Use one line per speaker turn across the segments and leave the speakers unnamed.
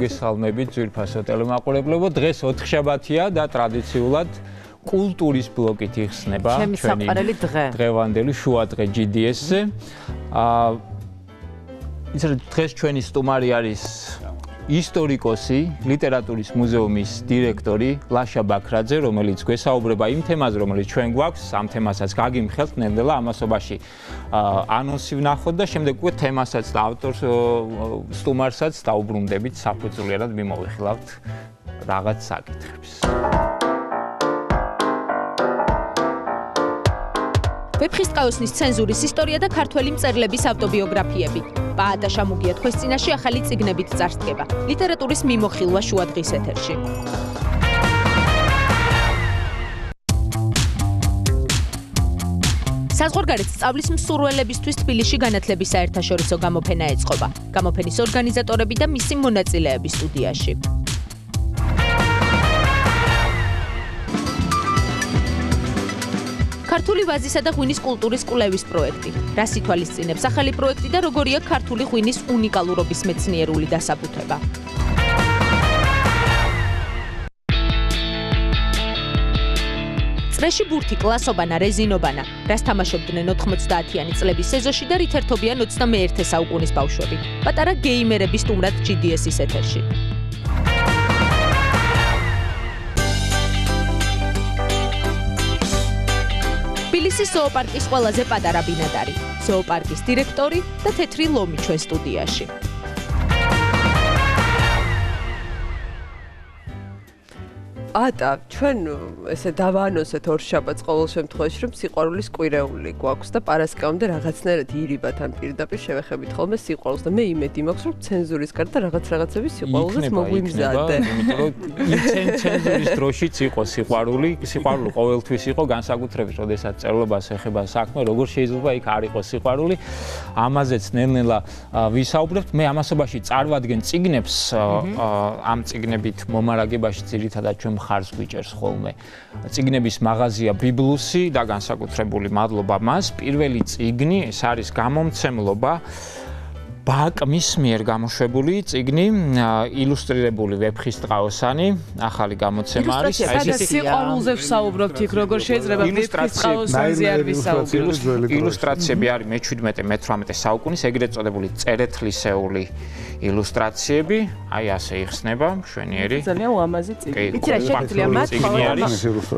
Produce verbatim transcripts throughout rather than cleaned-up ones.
გესალმებით ძვირფასო ტელემაყურებლებო, დღეს ოთხშაბათია და ტრადიციულად კულტურის ბლოკით იხსნება
ჩვენი
დღევანდელი შუადღე ჯი დი ეს-ზე. ისე დღეს ჩვენი სტუმარი არის ისტორიკოსი, ლიტერატურის მუზეუმის დირექტორი ლაშა ბაქრაძე, რომელიც გვესაუბრება იმ თემაზე, რომელიც ჩვენ გვაქვს, ამ თემასაც გაგიმხელთ ნელ-ნელა ამასობაში ანონსი ვნახოთ და შემდეგ უკვე თემასაც და ავტორს სტუმარსაც დაუბრუნდებით, საფუძვლიერად მიმოვიხილავთ რაღაც საკითხებს.
ვეფხისტყაოსნის ცენზურის ისტორია და ქართველი მწერლების ავტობიოგრაფიები. პაატა შამუგია თქვენს წინაშე ახალი წიგნებით წარსდგება. ლიტერატურის მიმოხილვა შუადღის ეთერში. საზღვარგარეთ სწავლის მსურველებისთვის თბილისში განათლების საერთაშორისო გამოფენა ეწყობა. გამოფენის ორგანიზატორები და მისი მონაწილეები სტუდიაში. ქართული ვაზისა და ღვინის კულტურის კვლევის პროექტი. რას ითვალისწინებს ახალი პროექტი და როგორია ქართული ღვინის უნიკალურობის მეცნიერული დასაბუთება. წრეში ბურთი, კლასობანა, რეზინობანა. რას თამაშობდნენ ოთხმოცდაათიანი წლების სეზონში და რით ერთობიან ოცდამეერთე საუკუნის ბავშვები. პატარა გეიმერები სტუმრად ჯი დი ეს-ის ეთერში. თბილისის ზოოპარკის ყველაზე პატარა ბინადარი, ზოოპარკის დირექტორი და თეთრი ლომი ჩვენ სტუდიაში.
ატა, ჩვენ ესე დავაანონსეთ ორშაბათს ყოველ შემთხვევაში, რომ სიყვარულის კვირეული გვაქვს და პარასკევამდე რაღაცნაირად ირიბათ ან პირდაპირ შევეხებით ხოლმე სიყვარულს და მე იმედი მაქვს, რომ ცენზურის გარდა რაღაც რაღაცების სიყვარულს მოგვიმზადე.
იმიტომ რომ ცენზურის დროშიც იყო სიყვარული, სიყვარული ყოველთვის იყო, განსაკუთრებით, როდესაც წერლობას ეხება საქმე, როგორ შეიძლება იქ არ იყოს სიყვარული. ამაზეც ნელ-ნელა ვისაუბრებთ. მე ამასობაში წარვადგენ წიგნებს, ამ წიგნებით მომარაგებაში ძირითადად ჩვენ მხარს გვიჭერს ხოლმე. წიგნების მაღაზია ბიბლუსი და განსაკუთრებული მადლობა მას. პირველი წიგნი, ეს არის გამომცემლობა ბაკმის მიერ გამოშვებული წიგნი, ილუსტრირებული ვეფხისტყაოსანი, ახალი გამოცემა არის.
ეს სიყვარულზე ვსაუბრობთ იქ, როგორ შეიძლება ვეფხისტყაოსანზე არ ვისაუბროთ.
ილუსტრაციები არის მეჩვიდმეტე მეთვრამეტე საუკუნის ეგრეთ წოდებული წერეთლისეული ილუსტრაციები, აი ასე იხსნება, მშვენიერი.
ძალიან უამაზი წიგნი.
იცი რა შეგვიძლია მათ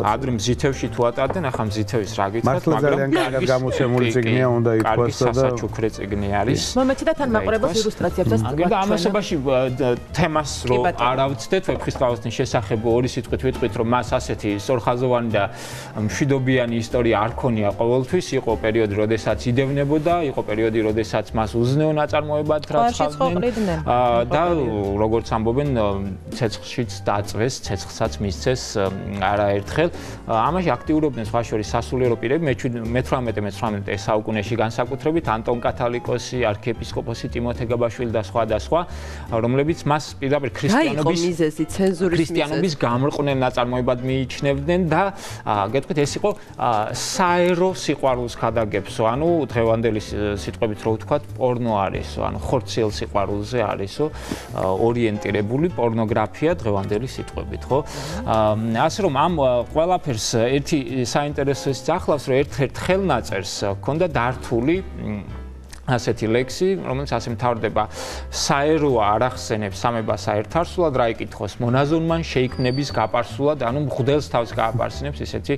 ადრე მზითევში თუ ატარდნენ, ახლა მზითევის რა გითხრათ,
მაგრამ ძალიან კარგად გამოცემული წიგნია, უნდა ითქვას და
სასაჩუქრე წიგნი არის.
მომეცი და თან მაყურებელს ილუსტრაციებსაც
და ამასობაში თემას რო არ ავწდეთ ვეფხისტყაოსნის შესახებ ორი სიტყვით ვიტყვით, რომ მას ასეთი სწორხაზოვანი და მშვიდობიანი ისტორია არ ქონია ყოველთვის, იყო პერიოდი, როდესაც იდევნებოდა, იყო პერიოდი, როდესაც მას უზნეო ნაწარმოებად რაცხავდნენ. და როგორც ამბობენ, ცეცხლშიც დაწვეს, ცეცხლსაც მისცეს არაერთხელ. ამაში აქტიურობდნენ სხვა შორის სასულიერო პირები, მეთვრამეტე მეცხრამეტე საუკუნეში განსაკუთრებით ანტონ კათალიკოსი, არქიეპისკოპოსი ტიმოთე გაბაშვილი და სხვა და სხვა, რომლებიც მას პირდაპირ ქრისტიანობის
მიზეზი, ცენზურის
ქრისტიანობის გამრყვნელ ნაწარმოებად მიიჩნევდნენ და გეტყვით, ეს იყო საერო სიყვარულს ქადაგებსო, ანუ დღევანდელი სიტყვებით რო ვთქვათ, პორნო არისო, ანუ ხორციელ სიყვარულზე არისო, ორიენტირებული პორნოგრაფია დღევანდელი სიტყვებით, ხო? ასე რომ ამ ყველაფერს ერთი საინტერესოც ახლავს, რომ ერთ-ერთ ხელნაწერს ჰქონდა დართული ასეთი ლექსი, რომელიც ასე მთავრდება: საეროა არ ახსენებს სამებას საერთარსულად, რა იკითხოს მონაზონმან შეიქმნების გაპარსულად, ანუ მღვდელს თავს გააპარსინებს, ისეთი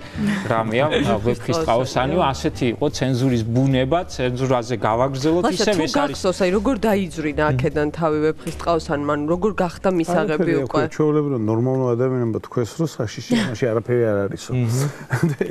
რამეა ვეფხისტყაოსანიო, ასეთი იყო ცენზურის ბუნება, ცენზურაზე გავაგრძელოთ, ისევ ეს არის.
გახსოვს, აი როგორ დაიძვრინა აქედან თავი ვეფხისტყაოსანმა, როგორ გახდა მისაღები უკვე?
ჩვეულებრივ ნორმალურ ადამიანებმა თქვეს, რომ საშიში მაშინ არაფერი არ არისო.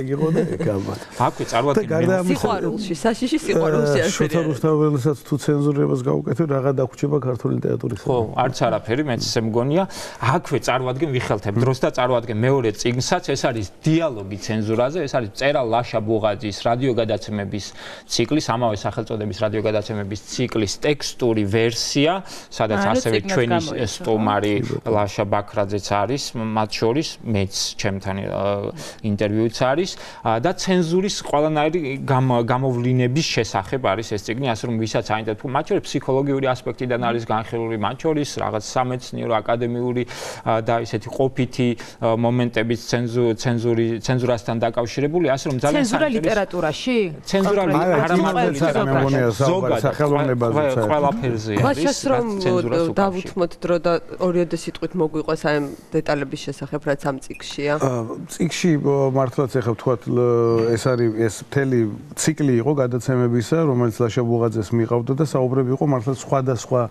ეგ იყო და ეგ ალბათ.
აკვე წარვადგენ
სიყვარულში, საშიში სიყვარულში არის.
თავველსაც თუ ცენზურებას გაუკეთებ, რაღა დაგვრჩება ქართული ლიტერატურის.
ხო, არც არაფერი, მეც ესე მგონია. აქვე წარვადგენ, ვიხელთებ დროს და წარვადგენ მეორე წიგნსაც, ეს არის დიალოგი ცენზურაზე, ეს არის მწერალ ლაშა ბუღაძის რადიოგადაცემების ციკლის, ამავე სახელწოდების რადიოგადაცემების ციკლის ტექსტური ვერსია, სადაც ასევე ჩვენი სტუმარი ლაშა ბაქრაძეც არის, მათ შორის მეც ჩემთან ინტერვიუც არის და ცენზურის ყველანაირი გამოვლინების შესახებ არის ეს წიგნი, ასე ასე რომ ვისაც აინტერესებს, მათ შორის ფსიქოლოგიური ასპექტიდან არის განხილული, მათ შორის რაღაც სამეცნიერო, აკადემიური და ისეთი ყოფითი მომენტების ცენზური ცენზურასთან დაკავშირებული, ასე რომ ძალიან
ცენზურა ლიტერატურაში?
ცენზურა არა მარტო ლიტერატურაში, ზოგადად
სახელმწიფოებაზე
ყველაფერზე არის.
მაშინ რომ დავუთმოთ დრო და ორიოდე სიტყვით მოგვიყვეს აი დეტალების შესახებ, რაც ამ წიგშია.
წიგში მართლაც ეხლა ვთქვათ ეს არის ეს მთელი ციკლი იყო გადაცემებისა, რომელიც ლაშა ბუღაძეს მიყავდა და საუბრები იყო მართლაც სხვადასხვა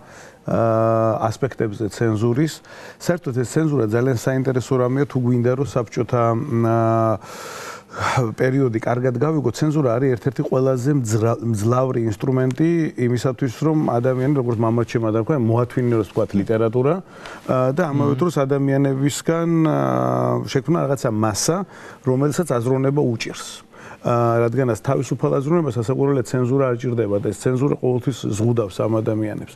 ასპექტებზე ცენზურის. საერთოდ ეს ცენზურა ძალიან საინტერესო რამეა, თუ გვინდა რომ საბჭოთა პერიოდი კარგად გავიგო, ცენზურა არის ერთ-ერთი ყველაზე მძლავრი ინსტრუმენტი იმისათვის, რომ ადამიანი, როგორც მამაჩემ ადარქვა, მოათვინოს თქვათ ლიტერატურა და ამავე დროს ადამიანებისგან შექმნა რაღაცა მასა, რომელსაც აზროვნება უჭირს. რადგანაც თავისუფალ აზროვნებას ასაკურველად ცენზურა არ ჭირდება და ეს ცენზურა ყოველთვის ზღუდავს ამ ადამიანებს.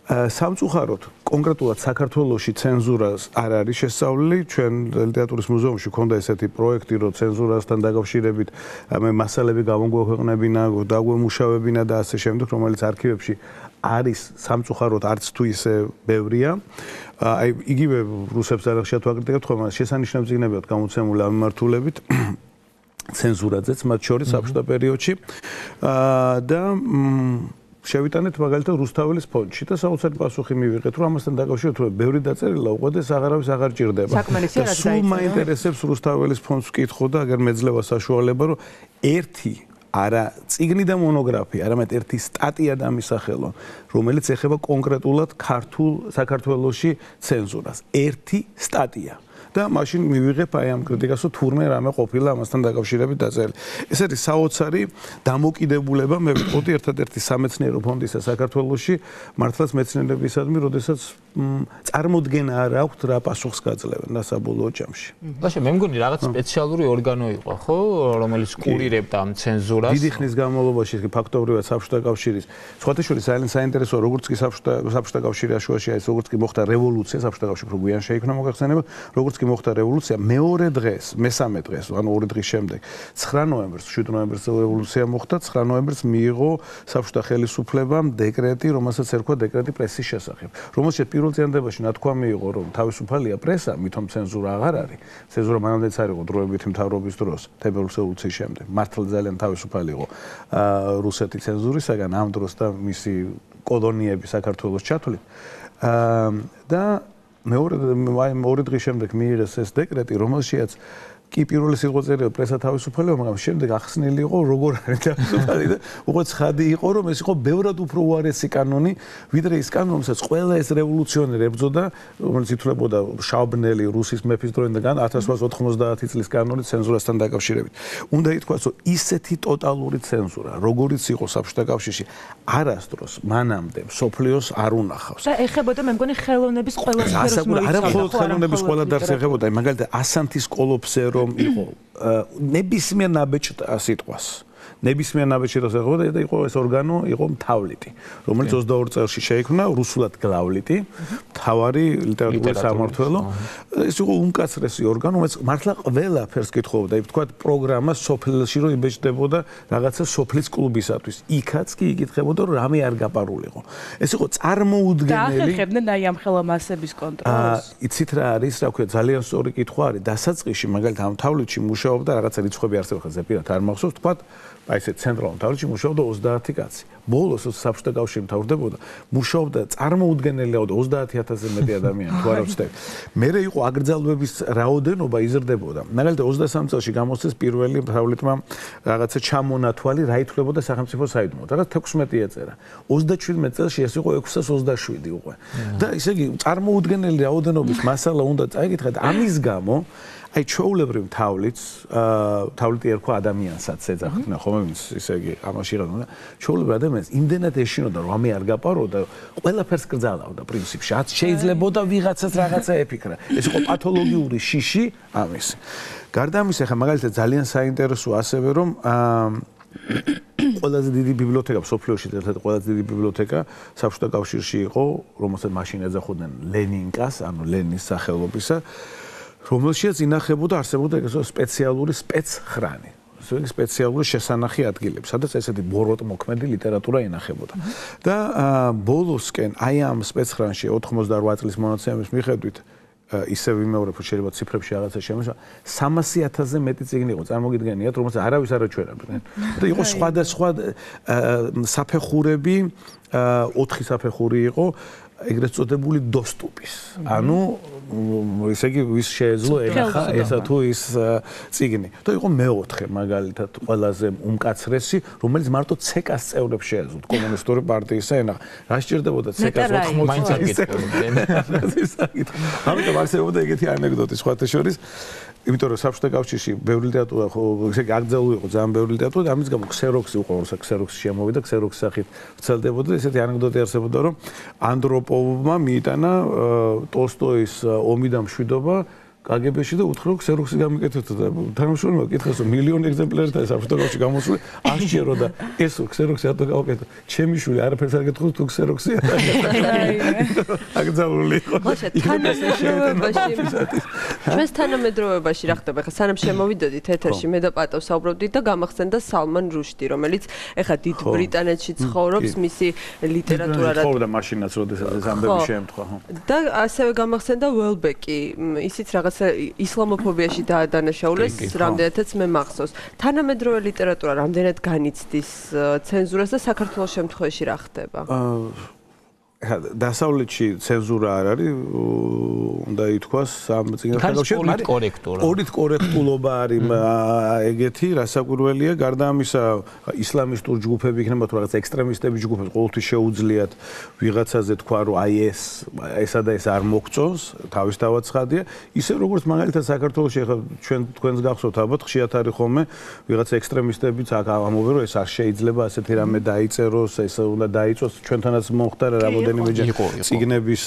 სამწუხაროდ, კონკრეტულად საქართველოში ცენზურას არ არის შესწავლილი. ჩვენ ლიტერატურის მუზეუმში ქონდა ესეთი პროექტი, რომ ცენზურასთან დაკავშირებით მე მასალები გამოგვექვეყნებინა, დაგვემუშავებინა და ასე შემდეგ, რომელიც არქივებში არის სამწუხაროდ არც თუ ისე ბევრია. აი იგივე რუსებს არ ხშირად ვაკრიტიკებთ, ხოლმე შესანიშნავ წიგნები აქვს გამოცემული ამ მიმართულებით. ცენზურაძეც მათ შორის საბჭოთა პერიოდში და შევიტანეთ მაგალითად რუსთაველის ფონდში და საოცარი პასუხი მივიღეთ, რომ ამასთან დაკავშირებით რომ ბევრი დაწერილა უყო და აღარავის აღარ ჭირდება.
და
სულ მაინტერესებს რუსთაველის ფონდს ვკითხო და აგერ მეძლევა საშუალება, რომ ერთი არა წიგნი და მონოგრაფია, არამედ ერთი სტატია დამისახელონ, რომელიც ეხება კონკრეტულად ქართულ საქართველოში ცენზურას. ერთი სტატია. და მაშინ მივიღებ აი ამ კრიტიკას, რომ თურმე რამე ყოფილა ამასთან დაკავშირებით დაწერილი. ეს არის საოცარი დამოკიდებულება, მე ვიტყოდი ერთადერთი სამეცნიერო ფონდისა საქართველოში, მართლაც მეცნიერებისადმი, როდესაც წარმოდგენა არ აქვთ რა პასუხს გაძლევენ და საბოლოო ჯამში.
ბაშა, მე მგონი რაღაც სპეციალური ორგანო იყო, ხო, რომელიც კურირებდა ამ ცენზურას.
დიდი ხნის განმავლობაში ფაქტობრივად საბჭოთა კავშირის, სხვათა შორის ძალიან საინტერესოა, როგორც კი საბჭოთა საბჭოთა კავშირის აშუაში არის, როგორც კი მოხდა რევოლუცია, საბჭოთა კავშირი უფრო გვიან შეიქმნა მოგახსენება, როგორც კი მოხდა რევოლუცია, მეორე დღეს, მესამე დღეს, ანუ ორი დღის შემდეგ, ცხრა ნოემბერს, შვიდ ნოემბერს რევოლუცია მოხდა, ცხრა ნოემბერს მიიღო საბჭოთა ხელისუფლებამ დეკრეტი, რომელსაც ერქვა დეკრეტი პრესის შესახებ. რომელშიც პირველ წინადადებაში ნათქვამი იყო, რომ თავისუფალია პრესა, მithom ცენზურა აღარ არის. ცენზურა მანამდეც არ იყო დროებითი მთავრობის დროს, თებერვლის რევოლუციის შემდეგ. მართლა ძალიან თავისუფალი იყო რუსეთი ცენზურისაგან ამ დროს და მისი კოლონიები საქართველოს ჩათვლით. და მეორე ორი დღის შემდეგ მიიღეს ეს დეკრეტი, რომელშიც კი პირველი სიტყვაწერია პრესა თავისუფალია, მაგრამ შემდეგ ახსნილი იყო როგორ არის თავისუფალი და უკვე ცხადი იყო, რომ ეს იყო ბევრად უფრო უარესი კანონი, ვიდრე ის კანონი, რომელსაც ყველა ეს რევოლუციონერი ებრძოდა, რომელიც ითვლებოდა შავბნელი რუსის მეფის დროიდან ათას რვაასი ოთხმოცდაათი წლის კანონი ცენზურასთან დაკავშირებით. უნდა ითქვას, რომ ისეთი ტოტალური ცენზურა, როგორიც იყო საბჭოთა კავშირში, არასდროს მანამდე მსოფლიოს არ უნახავს.
და ეხებოდა მე მგონი ხელოვნების ყველა სფეროს მოიცავდა.
არა მხოლოდ ხელოვნების ყველა დარგს ეხებოდა, მაგალითად ასანთის კოლოფზე რომ იყო ნებისმიერ ნაბეჭდ სიტყვას. ნებისმიერ ნაბეჭდს ეხებოდა და იყო ეს ორგანო, იყო მთავლიტი, რომელიც ოცდაორი წელს შეიქმნა, რუსულად გლავლიტი, მთავარი ლიტერატურის სამმართველო. ეს იყო უმკაცრესი ორგანო, რომელიც მართლა ყველაფერს კითხულობდა, ვთქვათ, პროგრამა სოფელში რომ იბეჭდებოდა რაღაცა სოფლის კლუბისათვის. იქაც კი იკითხებოდა, რომ რამე არ გაპარულიყო. ეს იყო წარმოუდგენელი.
დაახერხებდნენ აი ამ ხელა მასების კონტროლს.
იცით რა არის, რა ქვია, ძალიან სწორი კითხვა არის. დასაწყისში მაგალითად ამ თავლითში მუშაობდა რაღაცა რიცხვები არსებობდა, ზეპირად არ მახსოვს, ვთქვათ, აი ესე ცენტრალურ თავლითში მუშაობდა ოცდაათი კაცი. ბოლოს საბჭოთა კავშირი მთავრდებოდა, მუშაობდა წარმოუდგენელი ოცდაათი ათასზე მეტი ადამიანი, თუ არ ვცდები. მერე იყო აკრძალვების რაოდენობა იზრდებოდა. მაგალითად ოცდასამი წელში გამოსცეს პირველი თავლითმა რაღაცა ჩამონათვალი, რა ითვლებოდა სახელმწიფო საიდუმლოდ. რაღაც თექვსმეტი ეწერა. ოცდაჩვიდმეტ წელში ეს იყო ექვსას ოცდაშვიდი უკვე. და ისე იგი წარმოუდგენელი რაოდენობის მასალა უნდა წაიკითხეთ. ამის გამო აი ჩვეულებრივ თავლითს, თავლითი ერქვა ადამიანსაც ეძახდნენ, ხომ ისე იგი ამაში იყავდა. ჩვეულებრივ ადამიანს იმდენად ეშინოდა, რომ ამე არ გაპარო და ყველაფერს კრძალავდა პრინციპში. რაც შეიძლებოდა ვიღაცას რაღაცა ეფიქრა. ეს იყო პათოლოგიური შიში ამის. გარდა ამისა, ხა მაგალითად ძალიან საინტერესო ასევე რომ ყველაზე დიდი ბიბლიოთეკა მსოფლიოში, ერთ-ერთი ყველაზე დიდი ბიბლიოთეკა საბჭოთა კავშირში იყო, რომელსაც მაშინ ეძახოდნენ ლენინკას, ანუ ლენის სახელობისა. რომელშიც ინახებოდა არსებობდა ეგრეთ სპეციალური სპეცხრანი. სპეციალური შესანახი ადგილები, სადაც ესეთი ბოროტმოქმედი ლიტერატურა ინახებოდა. და ბოლოსკენ აი ამ სპეცხრანში ოთხმოცდაოთხ წლის მონაცემების მიხედვით ისე ვიმეორებ, შეიძლება ციფრებში რაღაცა შემოსვა, სამასი ათასზე მეტი წიგნი იყო, წარმოგიდგენიათ, რომელსაც არავის არ აჩვენებდნენ. და იყო სხვადასხვა საფეხურები, ოთხი საფეხური იყო, ეგრეთ წოდებული доступის. ანუ ესე იგი ვის შეეძლო ეხა ესა თუ ის წიგნი. და იყო მეოთხე მაგალითად ყველაზე უმკაცრესი, რომელიც მარტო ცეკას წევრებს შეეძლოთ კომუნისტური პარტიის ენახა. რა სჭირდებოდა ცეკას ოთხმოცდაოთხ წელს? ამიტომ არსებობდა ეგეთი ანეკდოტი სხვათა შორის. იმიტომ რომ საბჭოთა კავშირში ბევრი ლიტერატურა ხო ესე იგი აკრძალული იყო ძალიან ბევრი ლიტერატურა და ამის გამო ქსეროქსი უყუროს ქსეროქსი შემოვიდა ქსეროქსის სახით ვრცელდებოდა ესეთი ანეკდოტი არსებობდა რომ ანდროპოვმა მიიტანა ტოლსტოის ომი და მშვიდობა კაგებეში და უთხრა რომ ქსეროქსი გამიკეთეთ და თანამშრომელმა კითხეს რომ მილიონი ეგზემპლარით არის საბჭოთა კავშირში გამოსული აღჭერო და ეს ქსეროქსი ატო გავაკეთე ჩემი შვილი არაფერს არ გეტყვით თუ ქსეროქსია აკრძალული იყო
ჩვენს თანამედროვეობაში რა ხდება ხა სანამ შემოვიდოდით ეთერში მე და პატო საუბრობდით და გამახსენდა სალმან რუშდი რომელიც ეხა დიდ ბრიტანეთში ცხოვრობს მისი ლიტერატურა რა
ცხოვრობდა მაშინაც როდესაც ეს ამბები შეემთხვა ხო
და ასევე გამახსენდა ველბეკი ისიც რაღაც ისლამოფობიაში დაადანაშაულეს რამდენადაც მე მახსოვს თანამედროვე ლიტერატურა რამდენად განიცდის ცენზურას და საქართველოს შემთხვევაში რა ხდება
დასავლეთში ცენზურა არ არის უნდა ითქვას ამ წიგნთან
კორექტურა
ორით კორექტულობა არის ეგეთი რასაკვირველია გარდა ამისა ისლამისტურ ჯგუფები იქნება თუ რაღაც ექსტრემისტები ჯგუფები ყოველთვის შეუძლიათ ვიღაცაზე თქვა რომ აი ეს ესა და ეს არ მოგწონს თავისთავად ცხადია ისე როგორც მაგალითად საქართველოში ახლა ჩვენ თქვენს გახსოვთ ალბათ ხშირად არის ხოლმე ვიღაც ექსტრემისტებიც ამობენ რომ ეს არ შეიძლება ასეთი რამე დაიწეროს ეს უნდა დაიწოს ჩვენთანაც მომხდარა რა ციგნების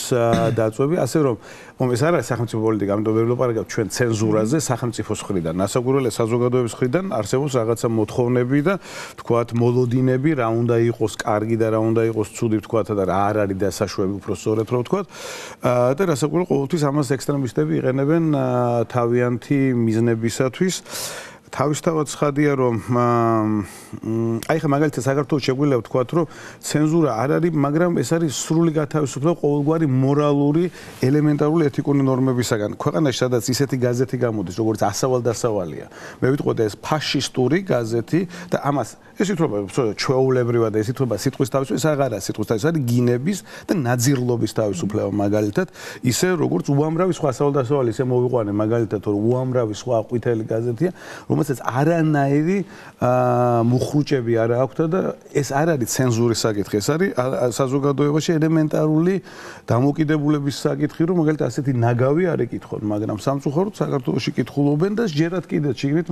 დაწვევი, ასე რომ ეს არ არის სახელმწიფო პოლიტიკა, ამიტომ ვერ ვლაპარაკებ ჩვენ ცენზურაზე სახელმწიფოს მხრიდან, ნასაკვირველია საზოგადოების მხრიდან არსებობს რაღაცა მოთხოვნები და თქვათ მოლოდინები, რა უნდა იყოს კარგი და რა უნდა იყოს ცუდი, თქვათ და რა არ არის დასაშვები, უფრო სწორედ რომ ვთქვათ. და რასაკვირველია ყოველთვის ამას ექსტრემისტები იყენებენ თავიანთი მიზნებისათვის. თავისთავად ცხადია რომ აი ხა მაგალითად საქართველოს შეგვიძლია ვთქვათ რომ ცენზურა არ არის მაგრამ ეს არის სრული გათავისუფლება ყოველგვარი მორალური ელემენტარული ეთიკური ნორმებისაგან ქვეყანაში სადაც ისეთი გაზეთი გამოდის როგორც ასავალ-დასავალია მე ვიტყოდი ეს ფაშისტური გაზეთი და ამას ეს ითვლება ჩვეულებრივად ეს ითვლება სიტყვის თავისუფლება ეს აღარაა სიტყვის თავისუფლება არის გინების და ნაძირლობის თავისუფლება მაგალითად ისე როგორც უამრავი სხვა ასავალ-დასავალი ისე მოვიყვანე მაგალითად რომ უამრავი სხვა ყვითელი გაზეთია რომელსაც არანაირი მუხრუჭები არ აქვს და ეს არ არის ცენზურის საკითხი, ეს არის საზოგადოებაში ელემენტარული დამოკიდებულების საკითხი, რომ მაგალითად ასეთი ნაგავი არ ეკითხონ, მაგრამ სამწუხაროდ საქართველოში კითხულობენ და ჯერათ კიდე ჩიგნით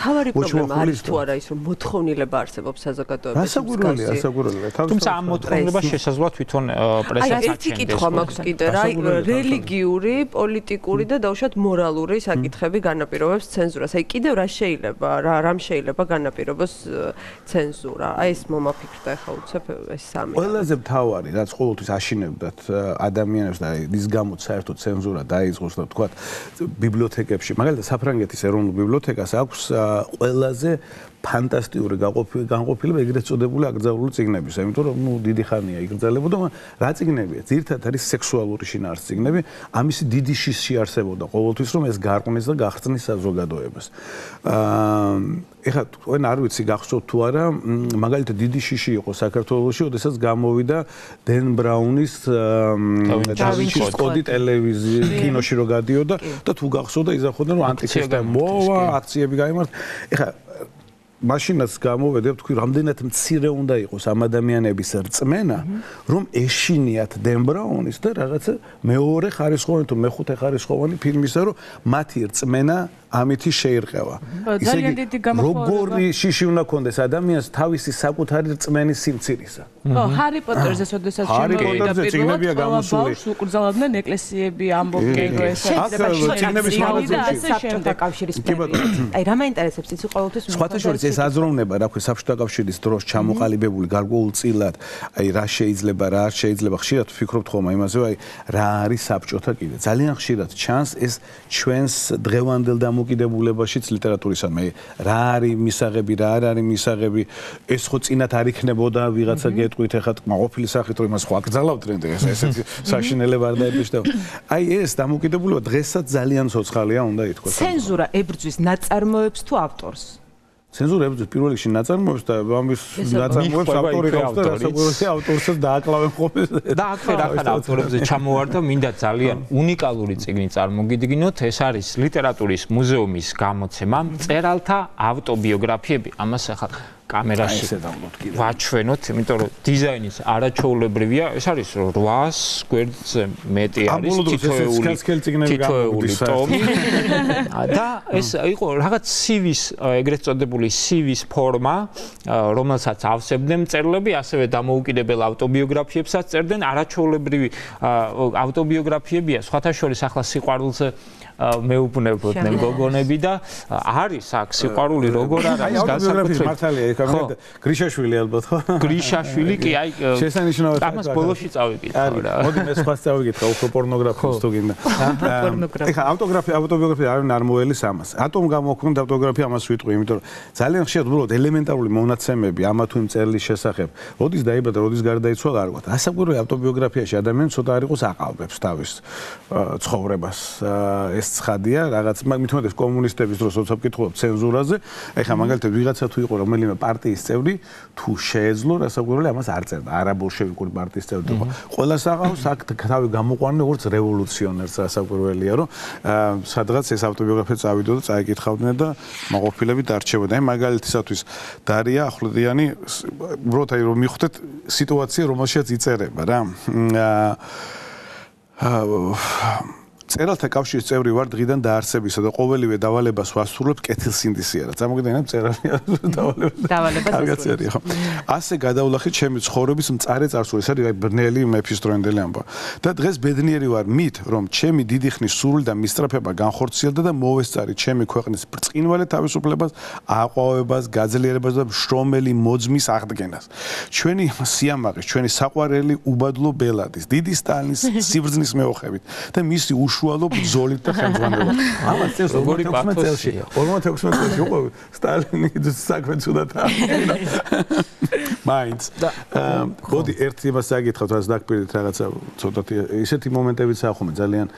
თავარი პრობლემა არის თუ არა ის რომ მოთხოვნილება არსებობს საზოგადოებაში.
რასაკვირველია, რასაკვირველია.
თუმცა ამ მოთხოვნილებას შესაძლოა თვითონ პრესა
აი ერთი კითხვა მაქვს კიდე რა რელიგიური, პოლიტიკური და დაუშვათ მორალური საკითხები განაპირობებს ცენზურას. აი კიდევ რა შეიძლება რა რამ შეიძლება განაპირობოს ცენზურა. აი ეს მომაფიქრდა ახლა უცებ ეს სამი.
ყველაზე მთავარი რაც ყოველთვის აშინებდათ ადამიანებს და ის გამოც საერთოდ ცენზურა დაიწყოს და თქვათ ბიბლიოთეკებში, მაგალითად საფრანგეთის ეროვნულ ბიბლიოთეკას აქვს ყველაზე ფანტასტიკური განყოფილება ეგრეთ წოდებული აკრძალული წიგნებისა, იმიტომ რომ ნუ დიდი ხანია იკრძალებოდა, რა წიგნებია? ძირითადად არის სექსუალური შინაარსის წიგნები, ამისი დიდი შიში არსებობდა ყოველთვის, რომ ეს გარყვნეს და გახსნის საზოგადოებას. აა ეხლა თქვენ არ ვიცი გახსოვთ თუ არა, მაგალითად დიდი შიში იყო საქართველოში, ოდესაც გამოვიდა დენ ბრაუნის დავინჩის კოდი ტელევიზიაში, კინოში რო გადიოდა და თუ გახსოვდა იზახოდნენ რომ ანტისისტემა მოვა, აქციები გაიმართა. ეხლა მაშინაც გამოვედი, თქვი, რამდენად მცირე უნდა იყოს ამ ადამიანების რწმენა, რომ ეშინიათ დენ ბრაუნის და რაღაცა მეორე ხარისხოვანი თუ მეხუთე ხარისხოვანი ფილმისა, რომ მათი რწმენა ამითი შეირყევა.
ისე იგი
როგორი შიში უნდა კონდეს ადამიანს თავისი საკუთარი რწმენის სიმცირისა.
ხო, ჰარი პოტერზე შესაძლოა შემოვიდა პირველად ბავშვს უკრძალავდნენ ეკლესიები, ამბობენ ეს
წიგნების მაღაზიაში
საბჭოთა კავშირის პრემია. აი რა მაინტერესებს იცი ყოველთვის
სხვათა შორის ეს აზროვნება, რა ქვია, საბჭოთა კავშირის დროს ჩამოყალიბებული გარკვეულწილად, აი რა შეიძლება, რა არ შეიძლება, ხშირად ვფიქრობთ ხოლმე იმაზე, აი რა არის საბჭოთა კიდე. ძალიან ხშირად ჩანს ეს ჩვენს დღევანდელ დამოკიდებულებაშიც ლიტერატურისადმი რა არის მისაღები რა არ არის მისაღები ეს ხო წინათ არ იქნებოდა ვიღაცა გეტყვით ეხლა ყოფილი სახით რომ იმას ხო აკრძალავდნენ ეს ესეთი საშინელება არ დაეპიშდება აი ეს დამოკიდებულება დღესაც ძალიან ცოცხალია უნდა ითქვას
ცენზურა ებრძვის ნაწარმოებს თუ ავტორს
ცენზურა ებრძვის პირველ რიგში ნაწარმოებს და ამის ნაწარმოებს ავტორი ყავს და რასაკვირველია ავტორსაც დააკლავენ ხოლმე
და აქვე რახან ავტორებზე ჩამოვარდა მინდა ძალიან უნიკალური წიგნი წარმოგიდგინოთ ეს არის ლიტერატურის მუზეუმის გამოცემა მწერალთა ავტობიოგრაფიები ამას ახლა კამერაში ვაჩვენოთ, იმიტომ რომ დიზაინის არაჩვეულებრივია, ეს არის რვას გვერდზე მეტი არის თითოეული ტომი. და ეს იყო რაღაც სივის, ეგრეთ წოდებული სივის ფორმა, რომელსაც ავსებდნენ მწერლები, ასევე დამოუკიდებელ ავტობიოგრაფიებსაც წერდნენ, არაჩვეულებრივი ავტობიოგრაფიებია, სხვათა შორის ახლა სიყვარულზე მეუბნებოდნენ გოგონები და არის აქ სიყვარული როგორ არის
განსაკუთრებით გრიშაშვილი ალბათ ხო?
გრიშაშვილი კი აი
შესანიშნავად
ამას ბოლოში წავიკითხავ რა.
მოდი მე სხვას წავიკითხავ უფრო პორნოგრაფიას თუ გინდა. ეხა ავტოგრაფია ავტობიოგრაფია არ ვინ არ მოელის ამას. ატომ გამოქვთ ავტოგრაფია ამას ვიტყვი, იმიტომ რომ ძალიან ხშირად უბრალოდ ელემენტარული მონაცემები ამა თუ იმ წერლის შესახებ. როდის დაიბადა, როდის გარდაიცვალა არ გვაქვს. ასაკურველი ავტობიოგრაფიაში ადამიანი ცოტა არ იყოს აყალბებს თავის ცხოვრებას. ეს ცხადია, რაღაც მithumetes კომუნისტების დროს როცა ვკითხულობ ცენზურაზე, ეხა მაგალითად ვიღაცა თუ იყო რომელიმე პარტიის წევრი, თუ შეეძლო, რასაკვირველია ამას არ წერდა. არაბოლშევიკური პარტიის წევრი იყო. ყველას აყავს აქ თავი გამოყვანენ როგორც რევოლუციონერს, რასაკვირველია, რომ სადღაც ეს ავტობიოგრაფია წავიდო და წაიკითხავდნენ და მაყოფილები დარჩებოდნენ. აი მაგალითისათვის დარია ახვლედიანი, უბრალოდ აი რომ მიხვდეთ სიტუაცია, რომელშიც იწერება რა. აა წერალთა კავშირის წევრი ვარ დღიდან დაარსებისა და ყოველივე დავალებას ვასრულებ კეთილსინდისიერად. წარმოგიდგენთ წერალი
დავალებას
გაცერია ხო? ასე გადავლახით ჩემი ცხოვრების მწარე წარსული. ეს არის აი ბრნელი მეფისდროინდელი ამბავი. და დღეს ბედნიერი ვარ მით, რომ ჩემი დიდი ხნის სურვილი და მისწრაფება განხორციელდა და მოვესწარი ჩემი ქვეყნის ბრწყინვალე თავისუფლებას, აყვავებას, გაძლიერებას და შრომელი მოძმის აღდგენას. ჩვენი სიამაყის, ჩვენი საყვარელი უბადლო ბელადის, დიდი სტალინის სიბრძნის მეოხებით და მისი უშუალო ბრძოლით და ხელმძღვანელობით. ამას წელს ორმოცდაექვსმეტ წელში, ორმოცდაექვსმეტ წელში იყო სტალინი საქმე ცუდად აღიარა. მაინც. მოდი ერთი იმას წაგითხავთ, რაც დაგპირდით რაღაცა ცოტათი ისეთი მომენტებიც ახome ძალიან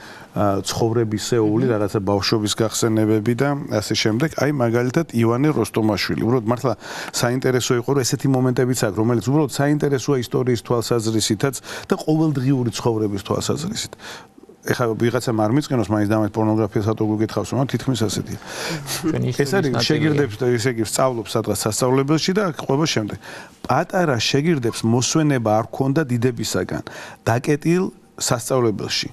ცხოვრებისეული, რაღაცა ბავშვობის გახსენებები და ასე შემდეგ. აი მაგალითად ივანე როსტომაშვილი. უბრალოდ მართლა საინტერესო იყო, რომ ესეთი მომენტებიც აქვს, რომელიც უბრალოდ საინტერესოა ისტორიის თვალსაზრისითაც და ყოველდღიური ცხოვრების თვალსაზრისით. ეხლა ვიღაცამ არ მიწყენოს მაინც დამეთ პორნოგრაფიას ატო გეკითხავს, მაგრამ თითქმის ასეთია. ეს არის შეგირდებს და ესე იგი სწავლობს სადღაც სასწავლებელში და ყვება შემდეგ. პატარა შეგირდებს მოსვენება არ ქონდა დიდებისაგან. დაკეტილ სასწავლებელში.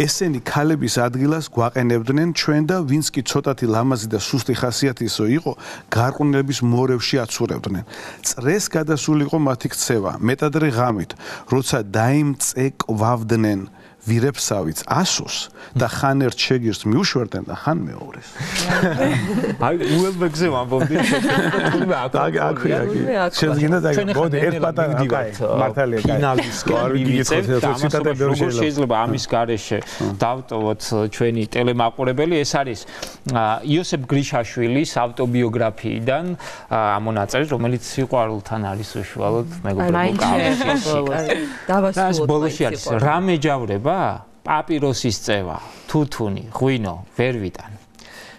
ესენი ქალების ადგილას გვაყენებდნენ ჩვენ და ვინც კი ცოტათი ლამაზი და სუსტი ხასიათისო იყო, გარყვნილების მორევში აცურებდნენ. წრეს გადასული იყო მათი ქცევა, მეტადრე ღამით, როცა დაიმწეკვავდნენ ვირებსავიც ასოს და ხან ერთ შეგირს მიუშვერდნენ და ხან მეორეს.
აი უელბეგზე ვამბობდი თუმცა
აქვია კი. შეგინდა და მოდი ერთ პატარა მართალია კაი.
ფინალისკენ მივიწევთ და ამას შეიძლება ამის გარეშე დავტოვოთ ჩვენი ტელემაყურებელი. ეს არის იოსებ გრიშაშვილის ავტობიოგრაფიიდან ამონაწერი, რომელიც სიყვარულთან არის უშუალოდ მეგობრებო კავშირში.
დავასრულოთ.
ბოლოში არის რა მეჯავრება? პაპიროსის წევა, თუთუნი, ღვინო, ვერ ვიტან.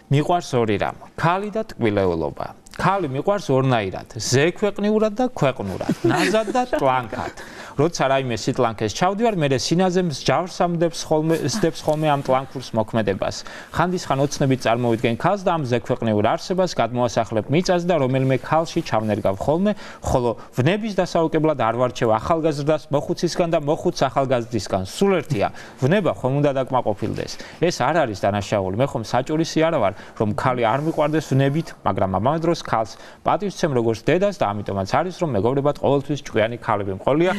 მიყვარს ორი რამ, ქალი და ტკბილეულობა. ქალი მიყვარს ორნაირად, ზექვეყნიურად და ქვეყნურად, ნაზად და ტლანქად. როცა რაიმე სიტლანქეს ჩავდივარ, მე სინაზე მსჯავრს ამდებს ხოლმე, სდებს ხოლმე ამ ტლანქურს მოქმედებას. ხანდისხან ოცნებით წარმოვიდგენ ქალს და ამ ზექვეყნიურ არსებას გადმოასახლებ მიწას და რომელიმე ქალში ჩავნერგავ ხოლმე, ხოლო ვნების დასაუკებლად არ ვარჩევ ახალგაზრდას მოხუცისგან და მოხუც ახალგაზრდისგან. სულ ერთია, ვნება ხომ უნდა დაკმაყოფილდეს. ეს არ არის დანაშაული. მე ხომ საჭურისი არა ვარ, რომ ქალი არ მიყვარდეს ვნებით, მაგრამ ამავე დროს ქალს პატივცემ როგორც დედას და ამიტომაც არის რომ მეგობრებად ყოველთვის ჭკვიანი ქალები მყოლია.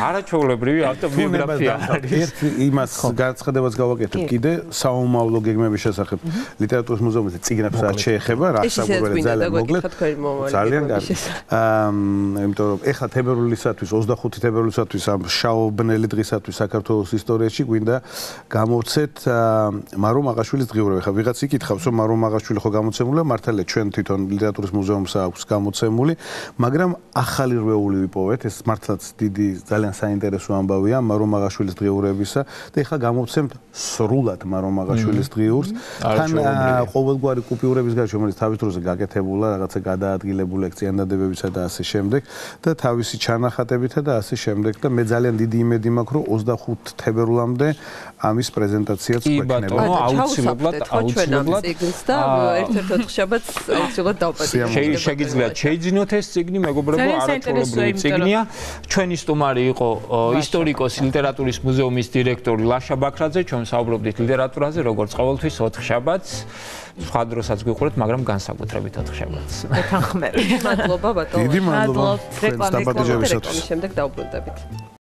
არაჩვეულებრივი ავტობიოგრაფია არის.
ერთ იმას განცხადებაც გავაკეთებ კიდე საომავლო გეგმების შესახებ ლიტერატურის მუზეუმის წიგნებს რაც შეეხება, რა საბურავად ძალიან მოგლეთ. ძალიან კარგი. აა იმიტომ რომ ეხლა თებერვლისათვის ოცდახუთი თებერვლისათვის ამ შაობნელი დღისათვის საქართველოს ისტორიაში გვინდა გამოვცეთ მარო მაღაშვილის დღიურები. ხა ვიღაც იკითხავს რომ მარო მაღაშვილი ხო გამოცემულია, მართალია ჩვენ თვითონ ლიტერატურის მუზეუმს აქვს გამოცემული, მაგრამ ახალი რვეული ვიპოვეთ, ეს მართლაც დიდი ძალიან საინტერესო ამბავია მარო მაღაშვილის დღიურებისა და ეხლა გამოვცემთ სრულად მარო მაღაშვილის დღიურს. თან ყოველგვარი კუპიურების გარშემო, რომელიც თავის დროზე გაკეთებულა, რაღაცა გადაადგილებული ექციანდადებებისა და ასე შემდეგ და თავისი ჩანახატებითა და ასე შემდეგ და მე ძალიან დიდი იმედი მაქვს, რომ ოცდახუთი თებერვლამდე ამის პრეზენტაციაც გვექნება.
კი ბატონო, აუცილებლად, აუცილებლად
და ერთ-ერთ ოთხშაბათს აუცილებლად დავპატიმრებთ.
შეგიძლიათ შეიძინოთ ეს წიგნი, მეგობრებო, არაჩვეულებრივი წიგნია. ჩვენი სტუმარი იყო ისტორიკოსი, ლიტერატურის მუზეუმის დირექტორი ლაშა ბაქრაძე, ჩვენ საუბრობდით ლიტერატურაზე, როგორც ყოველთვის ოთხშაბათს. სხვა დროსაც გვიყურეთ, მაგრამ განსაკუთრებით ოთხშაბათს.
მეთანხმები.
მადლობა ბატონო.
დიდი მადლობა.
რეკლამის შემდეგ დავბრუნდებით.